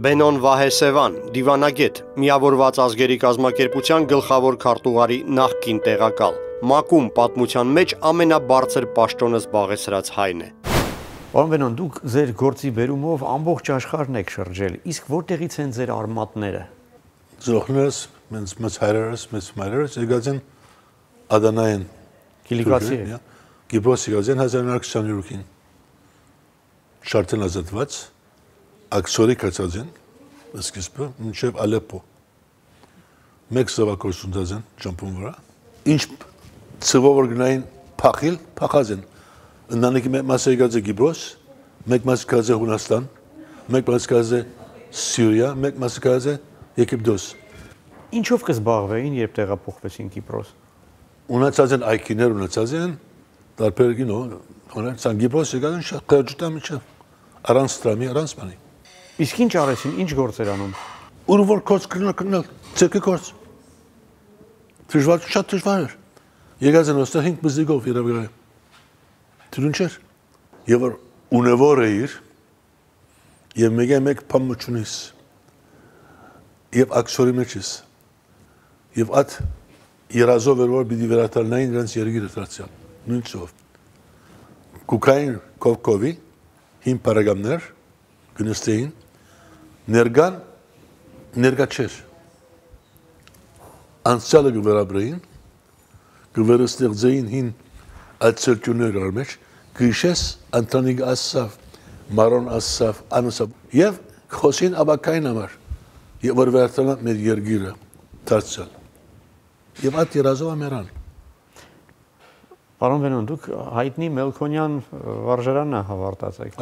Բենոն Վահեսևան, դիվանագետ, միավորված ազգերի կազմակերպության գլխավոր քարտուղարի նախկին տեղակալ, ՄԱԿ-ում պատմության մեջ ամենաբարձր պաշտոնը զբաղեցրած հայն է։ Պարոն Բենոն, դուք ձեր գործի բերումով ամբողջ աշխարհն եք շրջել, իսկ որտեղից են ձեր արմատները։ Զրոխներս, մեծ հայրերս, մեծ մայրերս եկած են Ադանային Կիլիկացի է։ Կիպրոս եկած են 1923-ին։ Շարթեն ազատված, ակսորի կացած են, սկիզբը, մինչև Ալեպպո։ Մեկ զավակորություն դած են ճամփուն վրա։ Ինչ ծվով որ գնային փախիլ, փախած են։ Ընտանիքի մեկ մասը եկած է Կիպրոս, մեկ մասը եկած է Հունաստան, մեկ մասը եկած է Սիրիա, մեկ մասը եկած է Եգիպտոս։ Ինչով կզբաղվեին, երբ տեղափոխվեցին Կիպրոս։ Ունեցած են այգիներ, ունեցած են տարբեր գինո, հոնեցան Կիպրոս եկած են շատ խեղճտա միջև, առանց տրամի, առանց բանի։ Իսկ ինչ արեցին, ինչ գործեր անում։ Ուր որ կոց կրնել, ցեկի կոց։ Դժվար, շատ դժվար էր։ Եկած են ոստեղ 5 բզիկով երևի։ Դրուն չէր։ Եվ որ ունևոր էիր, եւ մեկ փամուչունիս։ Եվ ակսորի մեջ ես։ Եվ այդ երազով էր որ պիտի վերադառնային իրենց երգիրը դարձյալ։ Նույն ծով։ Կուկային կովկովի հին պարագամներ գնստեին ներգա չէր։ Անցյալը գվերաբրեին, գվերստեղծեին հին ացերտյուներ արմեջ, գիշես անտանիգ ասավ, մարոն ասավ, անուսավ, և խոսին աբակային համար, և որ վերդանա մեր երգիրը դարձյալ։ Եվ այդ երազով ամերան։ Պարոն Բենոն, դուք հայտնի Մելքոնյան վարժարանն հավարտացեք։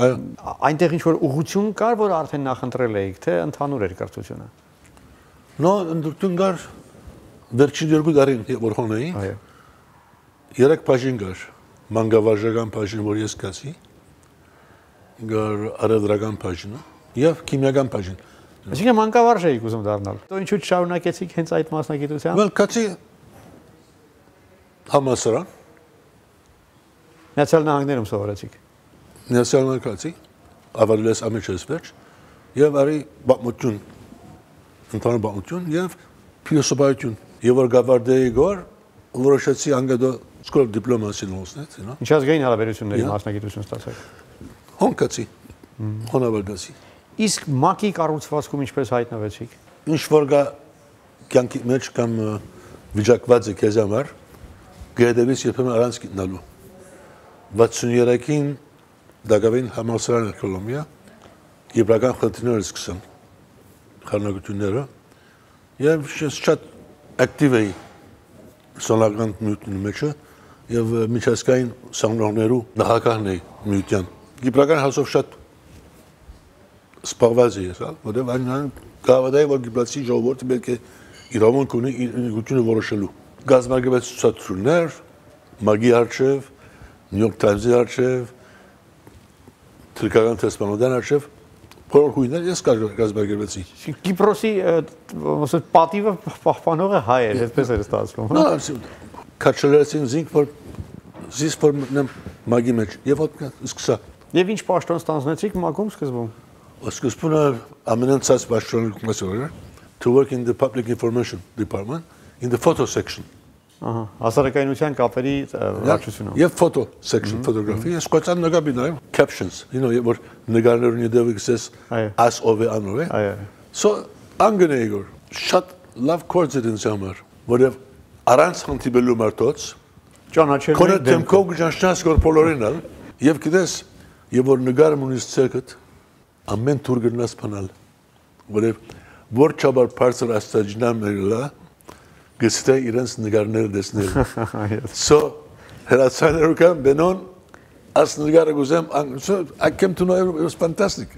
Այնտեղ ինչ-որ ուղղություն կար, որ արդեն նախընտրել էիք, թե ընդհանուր էր կրթությունը։ Նո, ընդրություն կար վերջին 2 տարին, որ հոն էի, 3 բաժին կար, մանկավարժական բաժին, որ ես կացի, կար արևդրական բաժինը և քիմիական բաժին։ Այսինքն մանկավարժ էիք ուզում դառնալ։ Դու ինչու չշարունակեցիք հենց այդ մասնագիտությամբ։ Well, կացի համալսարան։ Միացյալ Նահանգներում սովորեցիք։ Միացյալ Նահանգացի, ավարտել ես ամիջս վերջ, եւ արի պատմություն, ընդհանուր պատմություն եւ փիլիսոփայություն։ Եվ որ գավարտեի գոր, որոշեցի անգադո School of Diplomacy նոսնետ, you know։ Ինչ ազգային հարաբերությունների մասնագիտություն ստացաք։ Հոնակացի, հոնավարտացի։ Իսկ ՄԱԿ-ի կառուցվածքում ինչպես հայտնվեցիք։ Ինչ որ գա կյանքի մեջ կամ վիճակված է քեզ համար, գերդեվից երբեմն առանց գտնալու։ 63-ին դակավին համալսարանը Կոլոմբիա, եբրական խնդիրները սկսան, խառնակությունները, և շատ ակտիվ էի սոնական միութունի մեջը, և միջազգային սանրողներու նախագահն էի միության։ Եբրական հասով շատ սպաղված էի, որտև այն գավադայի, որ գիպրացի ժողովորդը պետք է իրավունք ունի իրավունքությունը որոշելու։ Գազམ-արգելված ցուցադրություններ, ՄԱԿ-ի առջև, New York Times-ի առջև, թրքական տեսփանոթան առջև, բոլոր հույներ ես գազམ-արգելվեցի։ Կիպրոսի պատիվը պահպանողը հայ էր, այդպես էր ստացվում։ Նա քաչելեցին զինք, որ զիս որ մտնեմ ՄԱԿ-ի մեջ, եւ ոտ սկսա։ Եվ ինչ պաշտոն ստանձնեցիք ՄԱԿ-ում սկզբում։ Սկզբում ամենացած պաշտոնը to work in the Public Information Department in the photo section. Հասարակայնության կապերի վարչությունում։ Եվ photo section, photography, ես կոչան նկատի նայում captions, որ նկարներուն յետևը գսես as ով է անով է։ So անգնեի գոր շատ լավ կորձ էր ինձ համար, որև առանց հանդիպելու մարդոց ճանաչել կոնե դեմքով գճանչնաս գոր բոլորինալ եւ գիտես եւ որ նկարը ունիս ցերկդ ամեն թուր գնաս փանալ որև որ չաբար բարձր աստիճաններլա գստե իրենց նկարները դեսնել so հրացաներու կան Բենոն աս նկարը գուզեմ I came to know it was fantastic.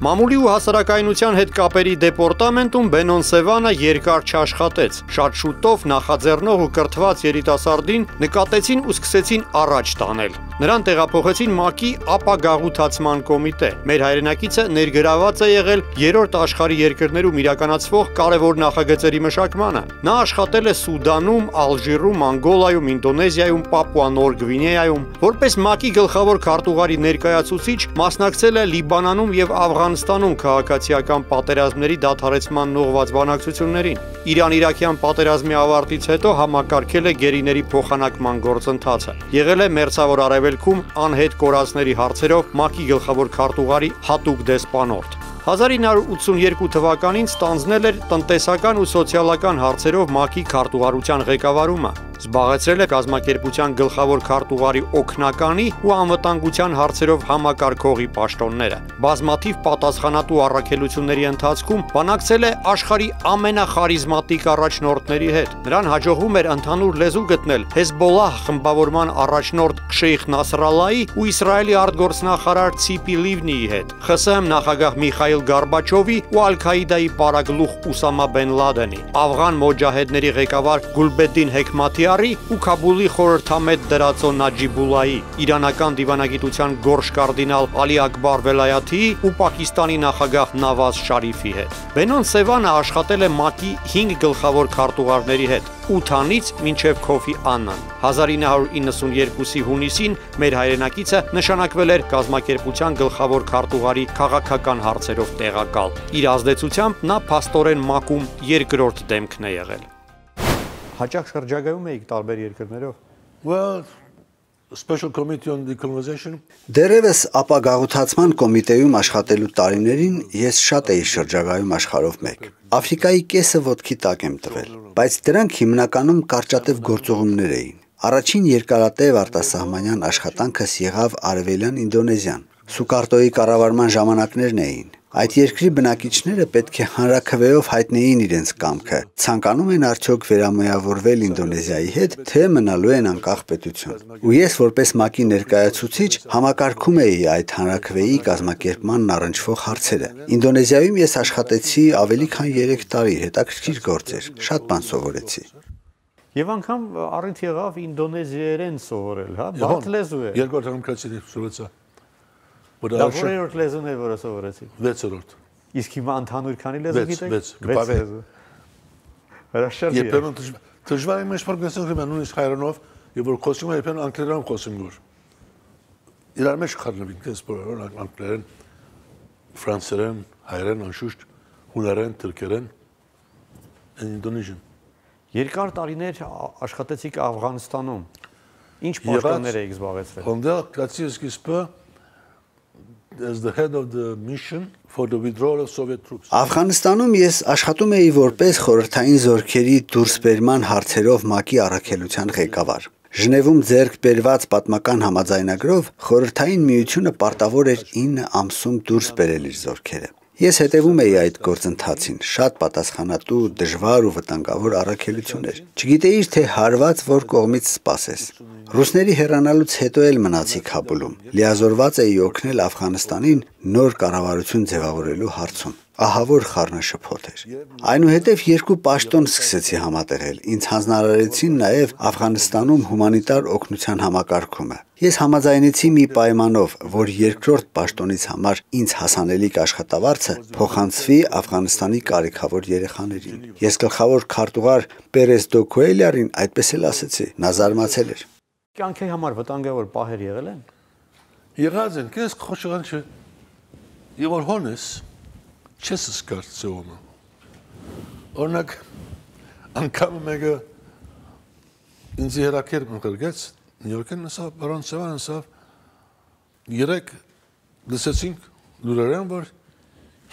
Մամուլի ու հասարակայնության հետ կապերի դեպորտամենտում Բենոն Սևանը երկար չաշխատեց։ Շատ շուտով նախաձեռնող ու կրթված երիտասարդին նկատեցին ու սկսեցին առաջ տանել։ Նրան տեղափոխեցին ՄԱԿ-ի ապագաղութացման կոմիտե։ Մեր հայրենակիցը ներգրաված է եղել երրորդ աշխարհի երկրներում իրականացվող կարևոր նախագծերի մշակմանը։ Նա աշխատել է Սուդանում, Ալժիրում, Անգոլայում, Ինդոնեզիայում, Պապուա Նոր Գվինեայում։ Որպես ՄԱԿ-ի գլխավոր քարտուղարի ներկայացուցիչ մասնակցել է Լիբանանում եւ Աֆղանստանում քաղաքացիական պատերազմների դադարեցման ուղղված բանակցություններին։ Իրան-Իրաքյան պատերազմի ավարտից հետո համակարգել է գերիների փոխանակման գործընթացը։ Եղել է Մերձավոր Արևելքում անհետ կորածների հարցերով ՄԱԿ-ի գլխավոր քարտուղարի հատուկ դեսպանորդ։ 1982 թվականին ստանձնել էր տնտեսական ու սոցիալական հարցերով ՄԱԿ-ի քարտուղարության ղեկավարումը։ Զբաղեցրել է կազմակերպության գլխավոր քարտուղարի օգնականի ու անվտանգության հարցերով համակարգողի պաշտոնները։ Բազմաթիվ պատասխանատու առաքելությունների ընթացքում բանակցել է աշխարհի ամենախարիզմատիկ առաջնորդների հետ։ Նրան հաջողվում էր ընդհանուր լեզու գտնել Հեզբոլլահ խմբավորման առաջնորդ Շեյխ Նասրալլայի ու Իսրայելի արտգործնախարար Ցիպի Լիվնիի հետ, ԽՍՀՄ նախագահ Միխայիլ Գորբաչովի ու Ալ-Քաիդայի պարագլուխ Ուսամա Բեն Լադենի, աֆղան մոջահեդների ղեկավար Գուլբեդդին Հեքմաթիարի ու Քաբուլի խորհրդամետ դրածո Նաջիբուլլայի, իրանական դիվանագիտության գորշ կարդինալ Ալի Ակբար Վելայաթիի ու Պակիստանի նախագահ Նավազ Շարիֆի հետ։ Բենոն Սևանը աշխատել է ՄԱԿ-ի 5 գլխավոր քարտուղարների հետ՝ Ութանից մինչև Քոֆի Աննան։ 1992-ի հունիսին մեր հայրենակիցը նշանակվել էր կազմակերպության գլխավոր քարտուղարի քաղաքական հարցերով տեղակալ։ Իր ազդեցությամբ նա փաստորեն ՄԱԿ-ում երկրորդ դեմքն է եղել։ Հաճախ շրջագայում էիք տարբեր երկրներով։ Well, Special Committee on Decolonization. Դերևս ապագաղութացման կոմիտեում աշխատելու տարիներին ես շատ էի շրջագայում աշխարհով մեկ։ Աֆրիկայի կեսը ոտքի տակ եմ տվել, բայց դրանք հիմնականում կարճատև գործողումներ էին։ Առաջին երկարատև արտասահմանյան աշխատանքս եղավ Արևելյան Ինդոնեզիան։ Սուկարտոյի կառավարման ժամանակներն էին։ Այդ երկրի բնակիչները պետք է հանրաքվեով հայտնեին իրենց կամքը, ցանկանում են արդյոք վերամիավորվել Ինդոնեզիայի հետ, թե մնալու են անկախ պետություն։ Ու ես որպես ՄԱԿ-ի ներկայացուցիչ համակարգում էի այդ հանրաքվեի կազմակերպմանն առնչվող հարցերը։ Ինդոնեզիայում ես աշխատեցի ավելի քան 3 տարի, հետաքրքիր գործ էր, շատ բան սովորեցի։ Եվ անգամ առիթ եղավ ինդոնեզիերեն սովորել, հա, բարդ լեզու է։ Երկրորդ անգամ սովորեցա։ Դա որերորդ լեզուն է, որը սովորեցիք։ 6-րդ։ Իսկ հիմա ընդհանուր քանի լեզու գիտեք։ 6 լեզու։ Հրաշալի է։ Երբեմն դժվար է մեզ փորձել նույնիսկ հայերենով, եւ որ խոսում եմ երբեմն անգլերենով խոսում գոր։ Իրար մեջ խառնվին, դες բոլոր անգլերեն, ֆրանսերեն, հայերեն, անշուշտ, հունարեն, թուրքերեն, Indonesian։ Երկար տարիներ աշխատեցիք Աֆղանստանում։ Ինչ պաշտոններ եք զբաղեցրել։ Հոնդել կացի սկիզբը as the head of the mission for the withdrawal of Soviet troops. Աֆղանստանում ես աշխատում էի որպես խորհրդային զորքերի դուրսբերման հարցերով ՄԱԿ-ի առաքելության ղեկավար։ Ժնևում ձեռք բերված պատմական համաձայնագրով խորհրդային միությունը պարտավոր էր 9 ամսում դուրս բերել իր զորքերը։ Ես հետևում էի այդ գործընթացին, շատ պատասխանատու, դժվար ու վտանգավոր առաքելություն էր։ Չգիտեիր, թե հարված որ կողմից սպասես։ Ռուսների հեռանալուց հետո էլ մնացի Քաբուլում։ Լիազորված էի օգնել Աֆղանստանին նոր կառավարություն ձևավորելու հարցում։ Ահա որ խառնաշփոթ էր։ Այնուհետև 2 պաշտոն սկսեցի համատեղել։ Ինձ հանձնարարեցին նաև Աֆղանստանում հումանիտար օգնության համակարգումը։ Ես համաձայնեցի մի պայմանով, որ երկրորդ պաշտոնից համար ինձ հասանելիք աշխատավարձը փոխանցվի Աֆղանստանի կարիքավոր երեխաներին։ Ես գլխավոր քարտուղար Պերես դո Քուելյարին այդպես էլ ասեցի։ Նա զարմացել էր։ Կյանքի համար վտանգավոր պահեր եղել են։ Եղած են, քեզ խոշորան չէ։ Եվ որ հոնես չես սկարծում։ Օրինակ անգամ մեկը ինձ հերակերպ ընկերգեց Նյու Յորքին ասավ բարոն Սևան ասավ երեք լսեցինք լուրերեն որ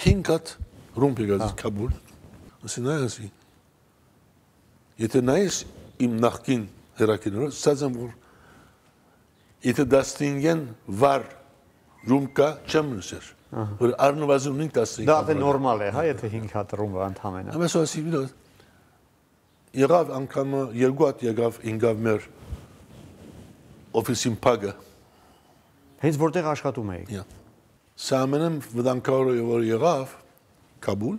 5 հատ ռումբ եկած Քաբուլ ասին այասի եթե նայես իմ նախկին հերակիները սազեմ որ եթե դաստինգեն վար ռումկա չեմ նշեր որ առնվազն 5 դաստինգ Դա նորմալ է, հա, եթե 5 հատ ռումբ ընդհանրապես։ Ամեն ասի վիդո եղավ անգամ 2 հատ եղավ ինգավ մեր օֆիսին փագը Հենց որտեղ աշխատում էիք։ Սա ամենը վտանգավոր որ եղավ Քաբուլ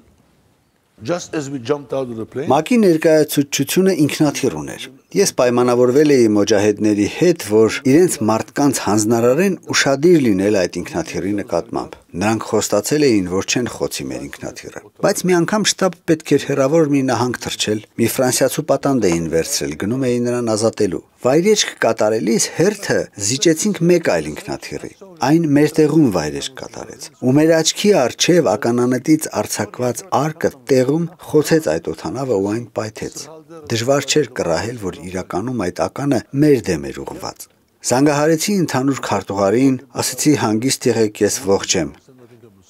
Just as we jumped out of the plane. ՄԱԿ-ի ներկայացուցչությունը ինքնաթիռ ուներ։ Ես պայմանավորվել էի մոջահեդների հետ, որ իրենց մարդկանց հանձնարարեն ուշադիր լինել այդ ինքնաթիռի նկատմամբ։ Նրանք խոստացել էին, որ չեն խոցի մեր ինքնաթիռը։ Բայց մի անգամ շտաբ պետք էր հեռավոր մի նահանգ թռչել, մի ֆրանսիացու պատանդ էին վերցրել, գնում էին նրան ազատելու։ Վայրեջք կատարելիս հերթը զիջեցինք մեկ այլ ինքնաթիռի։ Այն մեր տեղում վայրեջք կատարեց։ Ու մեր աչքի առջև ականանետից արձակված արկը տեղում խոցեց այդ օդանավը ու այն պայթեց։ Դժվար չէր կռահել, որ իրականում այդ ականը մեր դեմ էր ուղղված։ Զանգահարեցի ընդհանուր քարտուղարին, ասացի հանգիստ եղեք, ես ողջ եմ։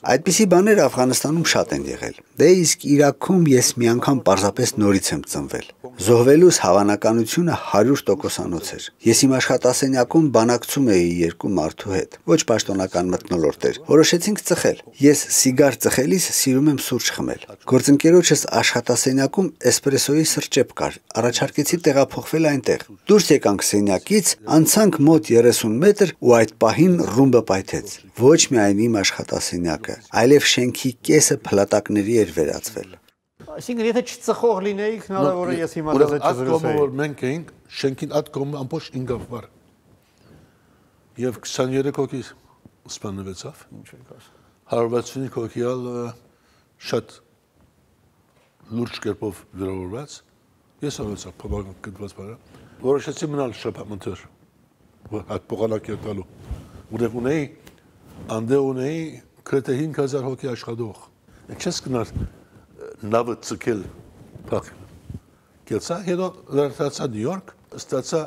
Այդպիսի բաներ Աֆղանստանում շատ են եղել։ Դե իսկ Իրաքում ես մի անգամ պարզապես նորից եմ ծնվել։ Զոհվելուս հավանականությունը 100%-անոց էր։ Ես իմ աշխատասենյակում բանակցում էի երկու մարդու հետ, ոչ պաշտոնական մթնոլորտ էր։ Որոշեցինք ծխել։ Ես սիգար ծխելիս սիրում եմ սուրճ խմել։ Գործընկերոջս աշխատասենյակում էսպրեսոյի սրճեպ կար։ Առաջարկեցի տեղափոխվել այնտեղ։ Դուրս եկանք սենյակից, անցանք մոտ 30 մետր ու այդ պահին ռումբը պայթեց։ Ոչ միայն իմ աշխատասենյակը, այլև շենքի կեսը փլատակների էր վերածվել։ Այսինքն եթե չծխող լինեիք, հնարավոր է ես հիմա դեռ չզրուցեի։ Որ մենք էինք շենքին այդ կողմը ամբողջ 5 վար։ Եվ 23 հոգի սպանվեցավ։ Ինչ եք ասում։ 165 հոգիալ շատ լուրջ կերպով վիրավորված։ Ես ավելացա բավական կդված բառը։ Որոշեցի մնալ շփամընթեր։ Այդ փոխանակի տալու։ Որտեղ ունեի անդե ունեի գրեթե 5000 հոգի աշխատող։ Չես գնալ նավը ցկել փակ։ Կեցա հետո լրացա Նյու Յորք, ստացա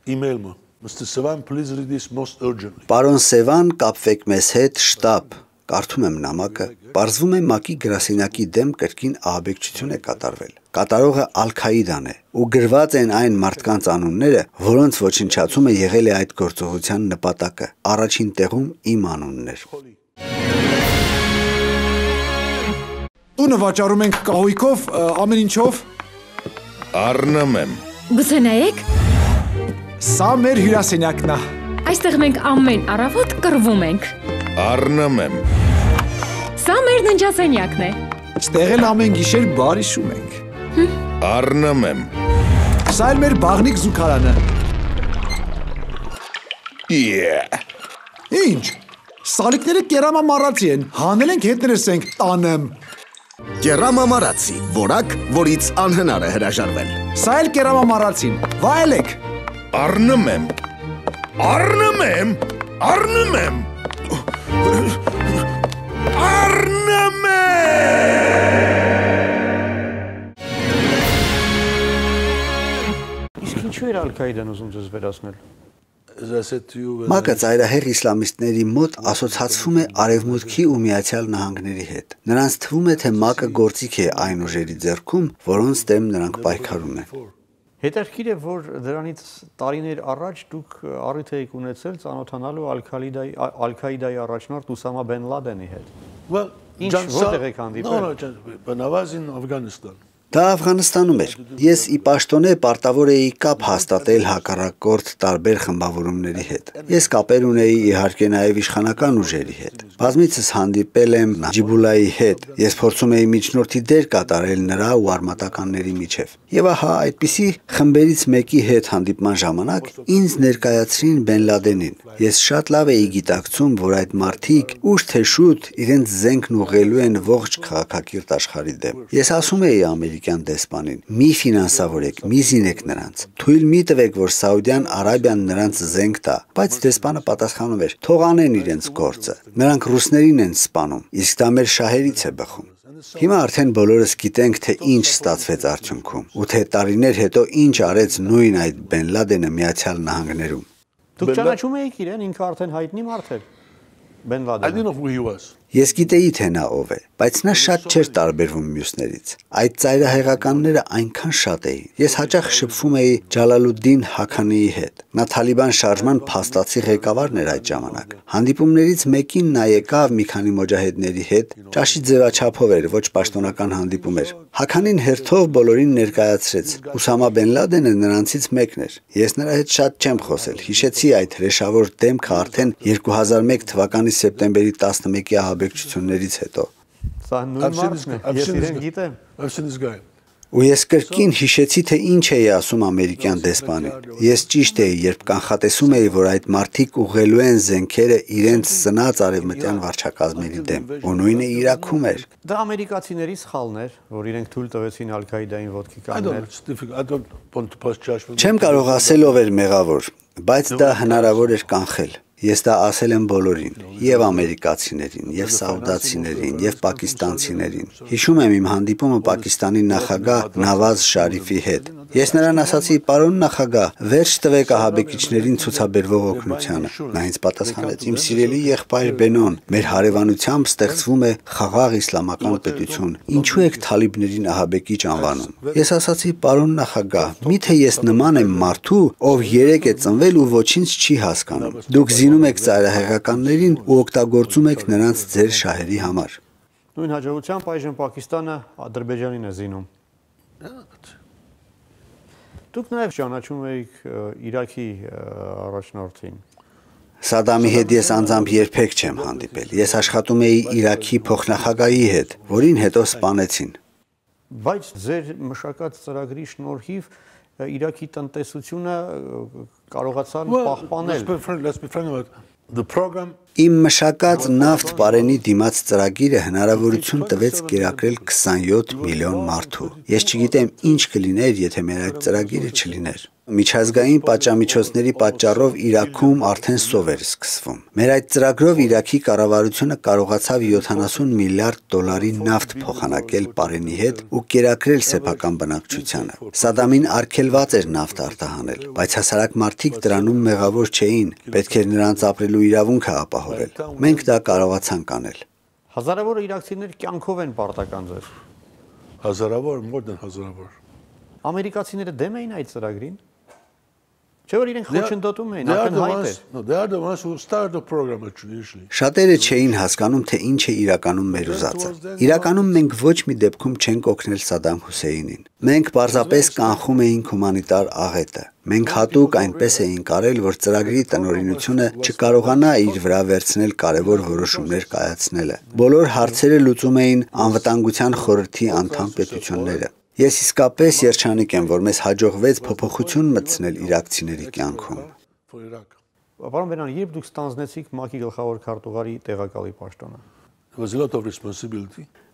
email-ը։ Mr. Sevan, please read this most urgently։ Պարոն Սևան, կապվեք մեզ հետ, շտաբ։ Կարդում եմ նամակը։ Պարզվում է ՄԱԿ-ի գրասենյակի դեմ կրկին ահաբեկչություն է կատարվել։ Կատարողը Ալ-Քաիդան է ու գրված են այն մարդկանց անունները, որոնց ոչնչացումը եղել է այդ գործողության նպատակը։ Առաջին տեղում իմ անունն էր։ Տունը վաճառում ենք կահույքով, ամեն ինչով։ Առնում եմ։ Գուցե նայեք։ Սա մեր հյուրասենյակն է։ Այստեղ մենք ամեն առավոտ կռվում ենք։ Առնում եմ։ Սա մեր ննջասենյակն է։ Ստեղ էլ ամեն գիշեր բար հիշում ենք։ Առնում եմ։ Սա էլ մեր բաղնիկ զուգարանը։ Ինչ։ Սալիկները կերամամարացի են, հանել ենք հետներս ենք տանեմ։ Կերամամարացի, որակ, որից անհնար է հրաժարվել։ Սա էլ կերամամարացին, վայելեք։ Առնում եմ։ Առնում եմ։ Առնում եմ։ Առնում եմ։ Իսկ ինչու էր Ալ-Քաիդան ուզում ձեզ վերացնել։ ՄԱԿ-ը ծայրահեղ իսլամիստների մոտ ասոցացվում է Արևմուտքի ու Միացյալ Նահանգների հետ։ Նրանց թվում է, թե ՄԱԿ-ը գործիք է այն ուժերի ձեռքում, որոնց դեմ նրանք պայքարում են։ Հետաքրքիր է, որ դրանից տարիներ առաջ դուք առիթ եք ունեցել ծանոթանալու Ալ-Քաիդայի առաջնորդ Ուսամա Բեն Լադենի հետ։ Ինչ որտեղ եք հանդիպել։ Բնավազ in Afghanistan։ Դա Աֆղանստանում էր։ Ես ի պաշտոնե պարտավոր էի կապ հաստատել հակառակորդ տարբեր խմբավորումների հետ։ Ես կապեր ունեի իհարկե նաև իշխանական ուժերի հետ։ Բազմիցս հանդիպել եմ Ջիբուլայի հետ։ Ես փորձում էի միջնորդի դեր կատարել նրա ու արմատականների միջև։ Եվ ահա այդպիսի խմբերից մեկի հետ հանդիպման ժամանակ ինձ ներկայացրին Բեն Լադենին։ Ես շատ լավ էի գիտակցում, որ այդ մարդիկ ուշ թե շուտ իրենց զենքն ուղղելու են ողջ քաղաքակիրթ աշխարհի դեմ։ Ես ասում էի ամերիկյան դեսպանին. մի ֆինանսավորեք, մի զինեք նրանց։ Թույլ մի տվեք, որ Սաուդյան Արաբիան նրանց զենք տա, բայց դեսպանը պատասխանում էր. թող անեն իրենց գործը։ Նրանք ռուսներին են սպանում, իսկ դա մեր շահերից է բխում։ Հիմա արդեն բոլորս գիտենք, թե ինչ ստացվեց արդյունքում, ու թե տարիներ հետո ինչ արեց նույն այդ Բեն Լադենը Միացյալ Նահանգներում։ Դուք ճանաչում եք իրեն, ինքը արդեն հայտնի մարդ էր։ Բեն Լադենը։ I didn't know who he was. Ես գիտեի, թե նա ով է, բայց նա շատ չէր տարբերվում մյուսներից։ Այդ ծայրահեղականները այնքան շատ էին։ Ես հաճախ շփվում էի Ջալալուդդին Հաքանիի հետ։ Նա Թալիբան շարժման փաստացի ղեկավարն էր այդ ժամանակ։ Հանդիպումներից մեկին նա եկավ մի քանի մոջահեդների հետ, ճաշի ձևաչափով էր, ոչ պաշտոնական հանդիպում էր։ Հաքանին հերթով բոլորին ներկայացրեց։ Ուսամա Բեն Լադենը նրանցից մեկն էր։ Ես նրա հետ շատ չեմ խոսել։ Հիշեցի այդ հրեշավոր դեմքը արդեն 2001 թվականի սեպտեմբերի 11-ի ահաբեկչություններից հետո։ Սա նույն մարդն է, ես իրեն գիտեմ։ I've seen this guy. Ու ես կրկին հիշեցի, թե ինչ էի ասում ամերիկյան դեսպանին։ Ես ճիշտ էի, երբ կանխատեսում էի, որ այդ մարդիկ ուղղելու են զենքերը իրենց ծնած արևմտյան վարչակազմերի դեմ, ու նույնը Իրաքում էր։ Դա ամերիկացիների սխալն էր, որ իրենք թույլ տվեցին Ալ-Քաիդային ոտքի կանգնել։ Չեմ կարող ասել ով էր մեղավոր, բայց դա հնարավոր էր կանխել։ Ես դա ասել եմ բոլորին, եւ ամերիկացիներին, եւ սաուդացիներին, եւ պակիստանցիներին։ Հիշում եմ իմ հանդիպումը Պակիստանի նախագահ Նավազ Շարիֆի հետ։ Ես նրան ասացի. «Պարոն նախագահ, վերջ տվեք ահաբեկիչներին ցուցաբերվող օգնությանը»։ Նա ինձ պատասխանեց. «Իմ սիրելի եղբայր Բենոն, մեր հարևանությամբ ստեղծվում է խաղաղ իսլամական պետություն։ Ինչու եք թալիբներին ահաբեկիչ անվանում»։ Ես ասացի. «Պարոն նախագահ, միթե ես նման եմ մարդու, ով 3 է ծնվել ու ոչինչ չի հասկանում։ Դուք զինում եք ծայրահեղականներին ու օգտագործում եք նրանց ձեր շահերի համար»։ Նույն հաջողությամբ այժմ Պակիստանը Ադրբեջանին է զինում։ Դուք նաև ճանաչում եք Իրաքի առաջնորդին։ Սադամի հետ ես անձամբ երբեք չեմ հանդիպել։ Ես աշխատում էի Իրաքի փոխնախագահի հետ, որին հետո սպանեցին։ Բայց ձեր մշակած ծրագրի շնորհիվ Իրաքի տնտեսությունը կարողացան պահպանել։ Իմ մշակած նավթ պարենի դիմաց ծրագիրը հնարավորություն տվեց կերակրել 27 միլիոն մարդու։ Ես չգիտեմ ինչ կլիներ, եթե մեր այդ ծրագիրը չլիներ։ Միջազգային պատժամիջոցների պատճառով Իրաքում արդեն սով էր սկսվում։ Մեր այդ ծրագրով Իրաքի կառավարությունը կարողացավ 70 միլիարդ դոլարի նավթ փոխանակել պարենի հետ ու կերակրել սեփական բնակչությանը։ Սադամին արգելված էր նավթ արտահանել, բայց հասարակ մարդիկ դրանում մեղավոր չէին, պետք էր նրանց ապրելու իրավունքը ապահովել։ Մենք դա կարողացանք անել։ Հազարավոր իրաքցիներ կյանքով են պարտական ձեր։ Հազարավոր, more than հազարավոր։ Ամերիկացիները դեմ էին այդ ծրագրին։ Չէ՞ որ իրենք խոչընդոտում էին, ակնհայտ էր։ Շատերը չէին հասկանում, թե ինչ է իրականում մեր ուզածը։ Իրականում մենք ոչ մի դեպքում չենք օգնել Սադամ Հուսեյնին։ Մենք պարզապես կանխում էինք հումանիտար աղետը։ Մենք հատուկ այնպես էինք արել, որ ծրագրի տնօրինությունը չկարողանա իր վրա վերցնել կարևոր որոշումներ կայացնելը։ Բոլոր հարցերը լուծում էին անվտանգության խորհրդի անդամ պետությունները։ Ես իսկապես երջանիկ եմ, որ մեզ հաջողվեց փոփոխություն մտցնել իրաքցիների կյանքում։ Պարոն Բենան, երբ դուք ստանձնեցիք ՄԱԿ-ի գլխավոր քարտուղարի տեղակալի պաշտոնը։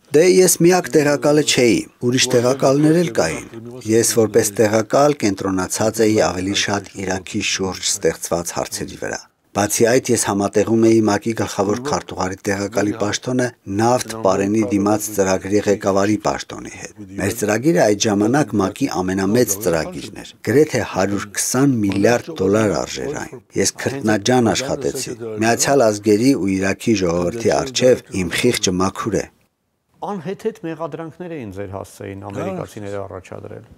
Դե ես միակ տեղակալը չէի, ուրիշ տեղակալներ էլ կային։ Ես որպես տեղակալ կենտրոնացած էի ավելի շատ Իրաքի շուրջ ստեղծված հարցերի վրա։ Բացի այդ, ես համատեղում էի ՄԱԿ-ի գլխավոր քարտուղարի տեղակալի պաշտոնը նավթ պարենի դիմաց ծրագրի ղեկավարի պաշտոնի հետ։ Մեր ծրագիրը այդ ժամանակ ՄԱԿ-ի ամենամեծ ծրագիրն էր։ Գրեթե 120 միլիարդ դոլար արժեր այն։ Ես քրտնաջան աշխատեցի։ Միացյալ Ազգերի ու Իրաքի ժողովրդի առջև իմ խիղճը մաքուր է։ Անհեթեթ մեղադրանքներ էին ձեր հասցեին ամերիկացիները առաջադրել։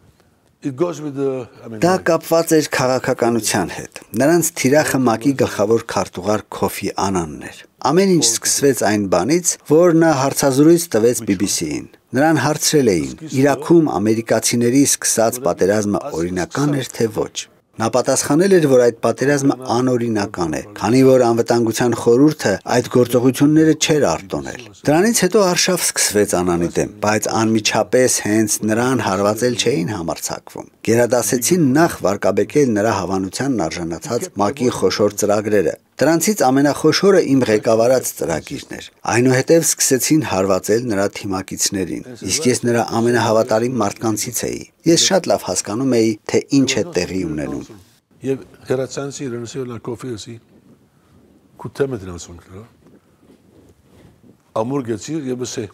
Դա կապված էր քաղաքականության հետ։ Նրանց թիրախը ՄԱԿ-ի գլխավոր քարտուղար Քոֆի Անանն էր։ Ամեն ինչ սկսվեց այն բանից, որ նա հարցազրույց տվեց BBC-ին։ Նրան հարցրել էին. Իրաքում ամերիկացիների սկսած պատերազմը օրինական էր թե ոչ։ Նա պատասխանել էր, որ այդ պատերազմը անօրինական է, քանի որ անվտանգության խորհուրդը այդ գործողությունները չէր արտոնել։ Դրանից հետո արշավ սկսվեց Անանի դեմ, բայց անմիջապես հենց նրան հարվածել չէին համարձակվում։ Գերադասեցին նախ վարկաբեկել նրա հավանությանն արժանացած ՄԱԿ-ի խոշոր ծրագրերը։ Դրանցից ամենախոշորը իմ ղեկավարած ծրագիրն էր։ Այնուհետև սկսեցին հարվածել նրա թիմակիցներին, իսկ ես նրա ամենահավատարիմ մարդկանցից էի։ Ես շատ լավ հասկանում էի, թե ինչ է տեղի ունենում։ Եվ հերացանցի իրենսիոնալ կոֆիեսի կուտեմետրացոնք, ամուր գեցիր եւ ասե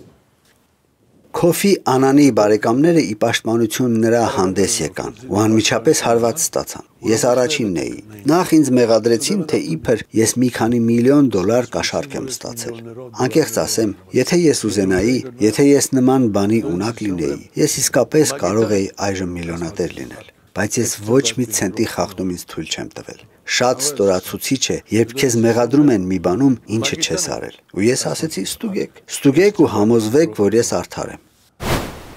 Քոֆի Անանի բարեկամները ի պաշտպանություն նրա հանդես եկան ու անմիջապես հարված ստացան։ Ես առաջինն էի։ Նախ ինձ մեղադրեցին, թե իբր ես մի քանի միլիոն դոլար կաշառք եմ ստացել։ Անկեղծ ասեմ, եթե ես ուզենայի, եթե ես նման բանի ունակ լինեի, ես իսկապես կարող էի այժմ միլիոնատեր լինել։ Բայց ես ոչ մի ցենտի խախտում ինձ թույլ չեմ տվել։ Շատ ստորացուցիչ է, երբ քեզ մեղադրում են մի բանում, ինչը չես արել։ Ու ես ասեցի՝ ստուգեք ու համոզվեք, որ ես արդար եմ։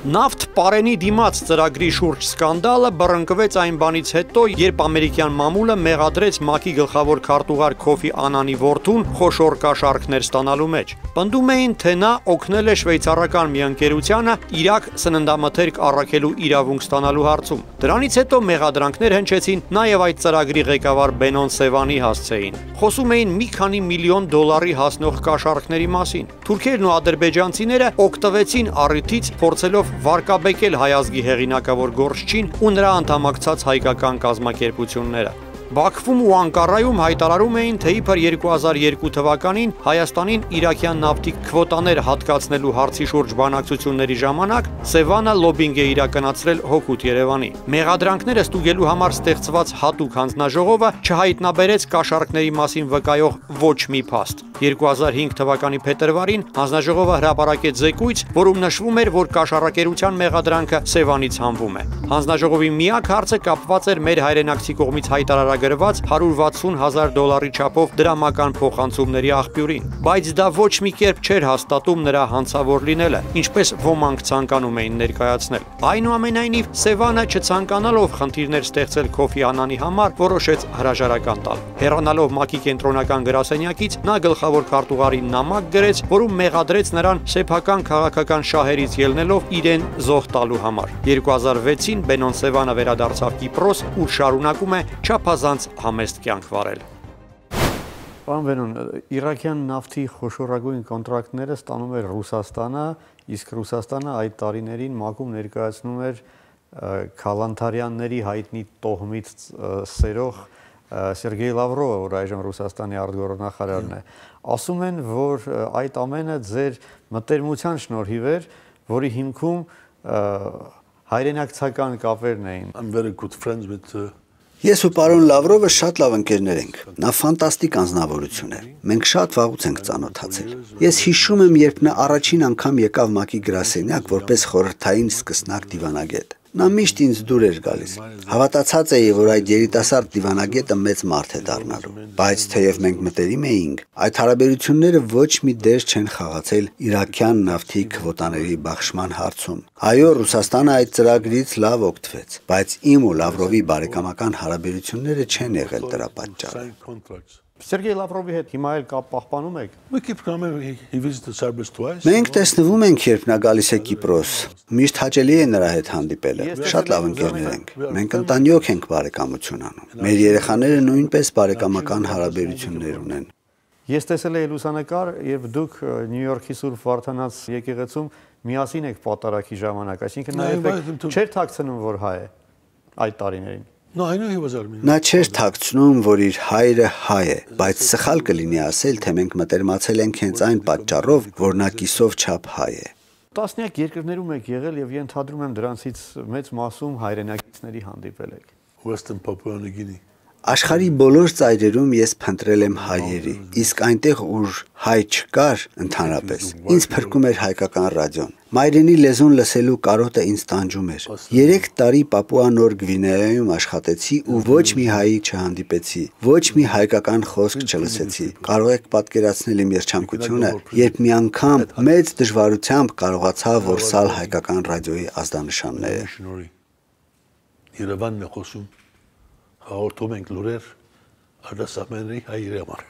Նավթ պարենի դիմաց ծրագրի շուրջ սկանդալը բռնկվեց այն բանից հետո, երբ ամերիկյան մամուլը մեղադրեց ՄԱԿ-ի գլխավոր քարտուղար Քոֆի Անանի որդուն խոշոր կաշառքներ ստանալու մեջ։ Պնդում էին, թե նա օգնել է շվեյցարական մի ընկերությանը Իրաք սննդամթերք առաքելու իրավունք ստանալու հարցում։ Դրանից հետո մեղադրանքներ հնչեցին նաև այդ ծրագրի ղեկավար Բենոն Սևանի հասցեին։ Խոսում էին մի քանի միլիոն դոլարի հասնող կաշառքների մասին։ Թուրքերն ու ադրբեջանցիները օգտվեցին առիթից, փորձելով վարկաբեկել հայ ազգի հեղինակավոր գործչին ու նրա անդամակցած հայկական կազմակերպությունները։ Բաքվում ու Անկարայում հայտարարում էին, թե իբր 2002 թվականին Հայաստանին իրաքյան նավթի քվոտաներ հատկացնելու հարցի շուրջ բանակցությունների ժամանակ Սևանը լոբինգ է իրականացրել հօգուտ Երևանի։ Մեղադրանքները ստուգելու համար ստեղծված հատուկ հանձնաժողովը չհայտնաբերեց կաշառքների մասին վկայող ոչ մի փաստ։ 2005 թվականի փետրվարին հանձնաժողովը հրապարակեց զեկույց, որում նշվում էր, որ կաշառակերության մեղադրանքը Սևանից հանվում է։ Հանձնաժողովի միակ հարցը կապված էր մեր հայրենակցի կողմից հայտարարագրված $160,000 չափով դրամական փոխանցումների աղբյուրին, բայց դա ոչ մի կերպ չէր հաստատում նրա հանցավոր լինելը, ինչպես ոմանք ցանկանում էին ներկայացնել։ Այնուամենայնիվ, Սևանը չցանկանալով խնդիրներ ստեղծել Քոֆի Անանի համար, որոշեց հրաժարական տալ։ Հեռանալով ՄԱԿ-ի կենտրոնական գրասենյակից, նա գլխավոր քարտուղարին նամակ գրեց, որում մեղադրեց նրան սեփական քաղաքական շահերից ելնելով իրեն զոհ տալու համար։ 2006-ին Բենոն Սևանը վերադարձավ Կիպրոս, ուր շարունակում է չափազանց համեստ կյանք վարել։ Պարոն Բենոն, իրաքյան նավթի խոշորագույն կոնտրակտները ստանում էր Ռուսաստանը, իսկ Ռուսաստանը այդ տարիներին ՄԱԿ-ում ներկայացնում էր Քալանթարյանների հայտնի տոհմից սերող Սերգեյ Լավրովը, որ այժմ Ռուսաստանի արտգործնախարարն է, ասում են, որ այդ ամենը ձեր մտերմության շնորհիվ էր, որի հիմքում հայրենակցական կապերն էին։ I'm very good friends with Ես ու պարոն Լավրովը շատ լավ ընկերներ ենք։ Նա ֆանտաստիկ անձնավորություն է։ Մենք շատ վաղուց ենք ծանոթացել։ Ես հիշում եմ, երբ նա առաջին անգամ եկավ ՄԱԿ-ի գրասենյակ որպես խորհրդային սկսնակ դիվանագետ։ Նա միշտ ինձ դուր էր գալիս։ Հավատացած էի, որ այդ երիտասարդ դիվանագետը մեծ մարդ է դառնալու։ Բայց թեև մենք մտերիմ էինք, այդ հարաբերությունները ոչ մի դեր չեն խաղացել իրաքյան նավթի քվոտաների բաշխման հարցում։ Այո, Ռուսաստանը այդ ծրագրից լավ օգտվեց, բայց իմ ու Լավրովի բարեկամական հարաբերությունները չեն եղել դրա պատճառը։ Սերգեյ Լավրովի հետ հիմա էլ կապ պահպանում եք։ Մենք տեսնվում ենք, երբ նա գալիս է Կիպրոս։ Միշտ հաճելի է նրա հետ հանդիպելը։ Շատ լավ ընկերներ ենք։ Մենք ընտանյոք ենք բարեկամություն անում։ Մեր երեխաները նույնպես բարեկամական հարաբերություններ ունեն։ Ես տեսել եմ լուսանկար, երբ դուք Նյու Յորքի Սուրբ Վարդանանց եկեղեցում միասին եք պատարագի ժամանակ, այսինքն նա չէր թաքցնում, որ հայ է այդ տարիներին։ Նա չէր թաքցնում, որ իր հայրը հայ է, բայց սխալ կլինի ասել, թե մենք մտերմացել ենք հենց այն պատճառով, որ նա կիսով չափ հայ է։ Տասնյակ երկրներում եք եղել եւ ենթադրում եմ դրանցից մեծ մասում հայրենակիցների հանդիպել եք։ Western Papua New Guinea Աշխարհի բոլոր ծայրերում ես փնտրել եմ հայերի, իսկ այնտեղ ուր հայ չկար ընդհանրապես, ինձ փրկում էր հայկական ռադիոն։ Մայրենի լեզուն լսելու կարոտը ինձ տանջում էր։ 3 տարի Պապուա Նոր Գվինեայում աշխատեցի ու ոչ մի հայի չհանդիպեցի, ոչ մի հայկական խոսք չլսեցի։ Կարող եք պատկերացնել իմ երջանկությունը, երբ մի անգամ մեծ դժվարությամբ կարողացա որսալ հայկական ռադիոյի ազդանշանները։ Երևանն է խոսում հաղորդում ենք լուրեր արտասահմանների հայերի համար։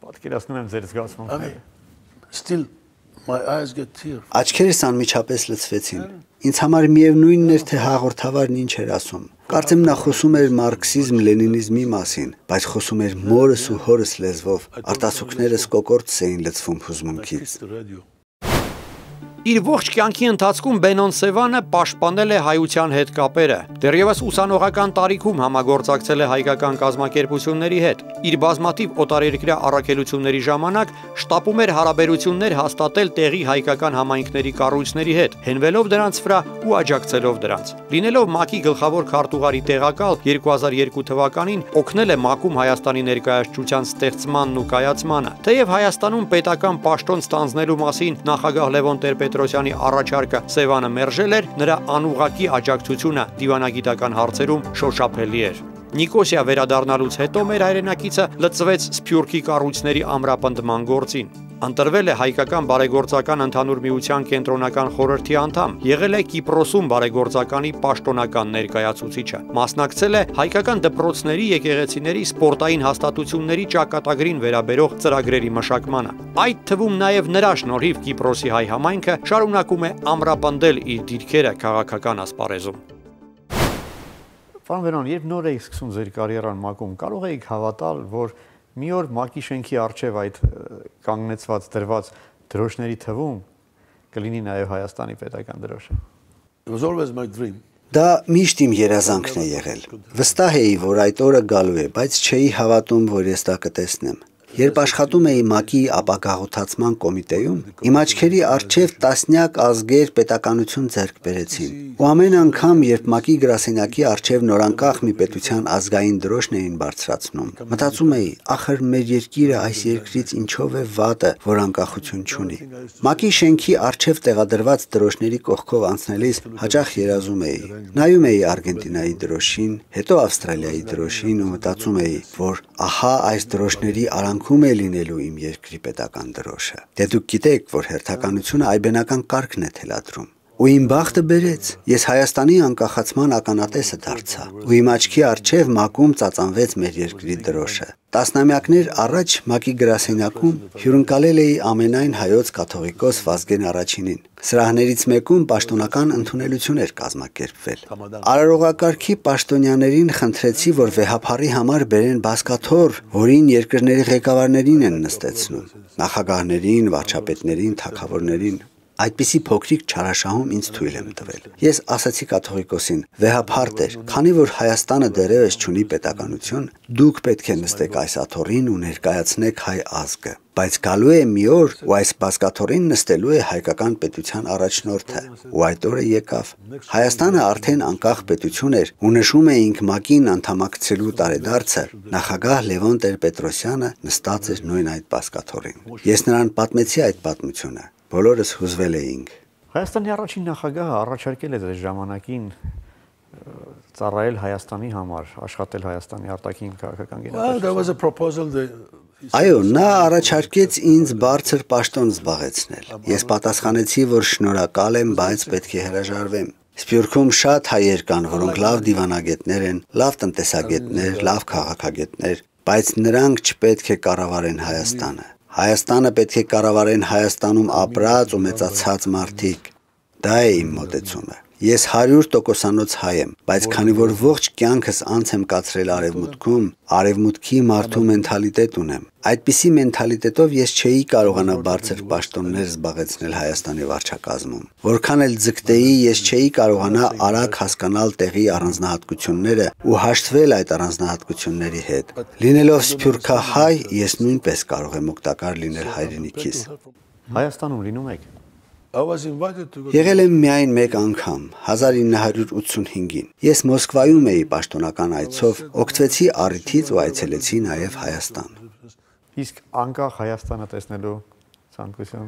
Պատկերացնում եմ ձեր զգացմունքները։ Still my eyes get tears. Աչքերս անմիջապես լցվեցին։ Ինձ համար միևնույնն էր, թե հաղորդավարն ինչ էր ասում։ Կարծեմ նա խոսում էր մարքսիզմ-լենինիզմի մասին, բայց խոսում էր մորս ու հորս լեզվով։ Արտասուքներս կոկորտս էին լցվում հուզմունքից։ Իր ողջ կյանքի ընթացքում Բենոն Սևանը պաշտպանել է հայության հետ կապերը։ Դեռևս ուսանողական տարիքում համագործակցել է հայկական կազմակերպությունների հետ։ Իր բազմաթիվ օտարերկրյա առաքելությունների ժամանակ շտապում էր հարաբերություններ հաստատել տեղի հայկական համայնքների կառույցների հետ, հենվելով դրանց վրա ու աջակցելով դրանց։ Լինելով ՄԱԿ-ի գլխավոր քարտուղարի տեղակալ 2002 թվականին օգնել է ՄԱԿ-ում Հայաստանի ներկայացության ստեղծմանն ու կայացմանը։ Թեև Հայաստանում պետական պաշտոն ստանձնելու մասին նախագահ Լևոն Տեր-Պետրոսյանի առաջարկը Սևանը մերժել էր, նրա անուղղակի աջակցությունը դիվանագիտական հարցերում շոշափելի էր։ Նիկոսիա վերադառնալուց հետո մեր հայրենակիցը լծվեց Սփյուռքի կառույցների ամրապնդման գործին։ Ընտրվել է հայկական բարեգործական ընդհանուր միության կենտրոնական խորհրդի անդամ, եղել է Կիպրոսում բարեգործականի պաշտոնական ներկայացուցիչը, մասնակցել է հայկական դպրոցների, եկեղեցիների, սպորտային հաստատությունների ճակատագրին վերաբերող ծրագրերի մշակմանը։ Այդ թվում նաև նրա շնորհիվ Կիպրոսի հայ համայնքը շարունակում է ամրապնդել իր դիրքերը քաղաքական ասպարեզում։ Պարոն Վերոն, երբ նոր եք սկսում ձեր կարիերան ՄԱԿ-ում, կարող եք հավատալ, որ մի օր ՄԱԿ-ի շենքի առջև այդ կանգնեցված դրված դրոշների թվում կլինի նաև Հայաստանի պետական դրոշը։ It was always my dream. Դա միշտ իմ երազանքն է եղել։ Վստահ էի, որ այդ օրը գալու է, բայց չէի հավատում, որ ես դա կտեսնեմ։ Երբ աշխատում էի ՄԱԿ-ի ապագաղութացման կոմիտեում, իմ աչքերի առջև տասնյակ ազգեր պետականություն ձեռք բերեցին։ Ու ամեն անգամ, երբ ՄԱԿ-ի գրասենյակի առջև նորանկախ մի պետության ազգային դրոշն էին բարձրացնում, մտածում էի, ախր մեր երկիրը այս երկրից ինչով է վատը, որ անկախություն չունի։ ՄԱԿ-ի շենքի առջև տեղադրված դրոշների կողքով անցնելիս հաճախ երազում էի։ Նայում էի Արգենտինայի դրոշին, հետո Ավստրալիայի դրոշին ու մտածում էի, որ ահա այս դրոշների ում է լինելու իմ երկրի պետական դրոշը։ Դե դուք գիտեք, որ հերթականությունը այբենական կարգն է թելադրում։ Ու իմ բախտը բերեց, ես Հայաստանի անկախացման ականատեսը դարձա, ու իմ աչքի առջև ՄԱԿ-ում ծածանվեց մեր երկրի դրոշը։ Տասնամյակներ առաջ ՄԱԿ-ի գրասենյակում հյուրընկալել էի ամենայն հայոց կաթողիկոս Վազգեն Առաջինին։ Սրահներից մեկում պաշտոնական ընդունելություն էր կազմակերպվել։ Արարողակարգի պաշտոնյաներին խնդրեցի, որ վեհափառի համար բերեն բազկաթոռ, որին երկրների ղեկավարներին են նստեցնում, նախագահներին, վարչապետներին, թագավորներին։ Այդպիսի փոքրիկ չարաշահում ինձ թույլ եմ տվել։ Ես ասացի կաթողիկոսին, վեհափառ Տեր, քանի որ Հայաստանը դեռևս չունի պետականություն, դուք պետք է նստեք այս աթոռին ու ներկայացնեք հայ ազգը։ Բայց գալու է մի օր, ու այս բազկաթոռին նստելու է հայկական պետության առաջնորդը, ու այդ օրը եկավ։ Հայաստանը արդեն անկախ պետություն էր, ու նշում էինք ՄԱԿ-ին անդամակցելու տարեդարձը, նախագահ Լևոն Տեր-Պետրոսյանը նստած էր նույն այդ բազկաթոռին։ Ես նրան պատմեցի այդ պատմությունը։ Բոլորս հուզվել էինք։ Հայաստանի առաջին նախագահը առաջարկել է ձեր ժամանակին ծառայել Հայաստանի համար, աշխատել Հայաստանի արտաքին քաղաքական գերատեսչությունում։ Այո, նա առաջարկեց ինձ բարձր պաշտոն զբաղեցնել։ Ես պատասխանեցի, որ շնորհակալ եմ, բայց պետք է հրաժարվեմ։ Սփյուռքում շատ հայեր կան, որոնք լավ դիվանագետներ են, լավ տնտեսագետներ, լավ քաղաքագետներ, բայց նրանք չպետք է կառավարեն Հայաստանը։ Հայաստանը պետք է կառավարեն Հայաստանում ապրած ու մեծացած մարդիկ։ Դա է իմ մոտեցումը։ Ես 100%-անոց հայ եմ, բայց քանի որ ողջ կյանքս անց եմ կացրել Արևմուտքում, Արևմուտքի մարդու մենթալիտետ ունեմ։ Այդպիսի մենթալիտետով ես չէի կարողանա բարձր պաշտոններ զբաղեցնել Հայաստանի վարչակազմում։ Որքան էլ ձգտեի, ես չէի կարողանա արագ հասկանալ տեղի առանձնահատկությունները ու հաշտվել այդ առանձնահատկությունների հետ։ Լինելով սփյուռքահայ, ես նույնպես կարող եմ օգտակար լինել հայրենիքիս։ Հայաստանում լինում եք։ Եղել եմ միայն մեկ անգամ, 1985-ին։ Ես Մոսկվայում էի պաշտոնական այցով, օգտվեցի առիթից ու այցելեցի նաև Հայաստան։ Իսկ անկախ Հայաստանը տեսնելու ցանկություն։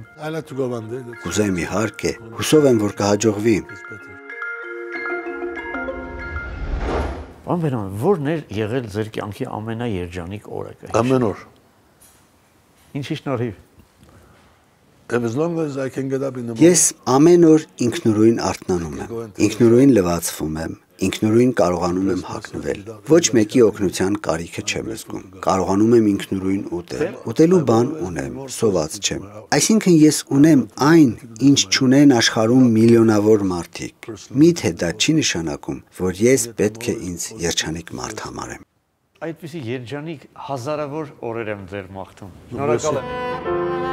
Կուզեմ իհարկե, հուսով եմ, որ կհաջողվի։ Պարոն Վերոն, ո՞րն էր եղել ձեր կյանքի ամենաերջանիկ օրը։ Ամեն օր։ Ինչի շնորհիվ։ Ես ամեն օր ինքնուրույն արթնանում եմ, ինքնուրույն լվացվում եմ, ինքնուրույն կարողանում եմ հագնվել։ Ոչ մեկի օգնության կարիքը չեմ զգում։ Կարողանում եմ ինքնուրույն ուտել։ Ուտելու բան ունեմ, սոված չեմ։ Այսինքն ես ունեմ այն, ինչ չունեն աշխարհում միլիոնավոր մարդիկ։ Միթե դա չի նշանակում, որ ես պետք է ինձ երջանիկ մարդ համարեմ։ Այդպիսի երջանիկ հազարավոր օրեր եմ ձեր մաղթում։ Շնորհակալ եմ։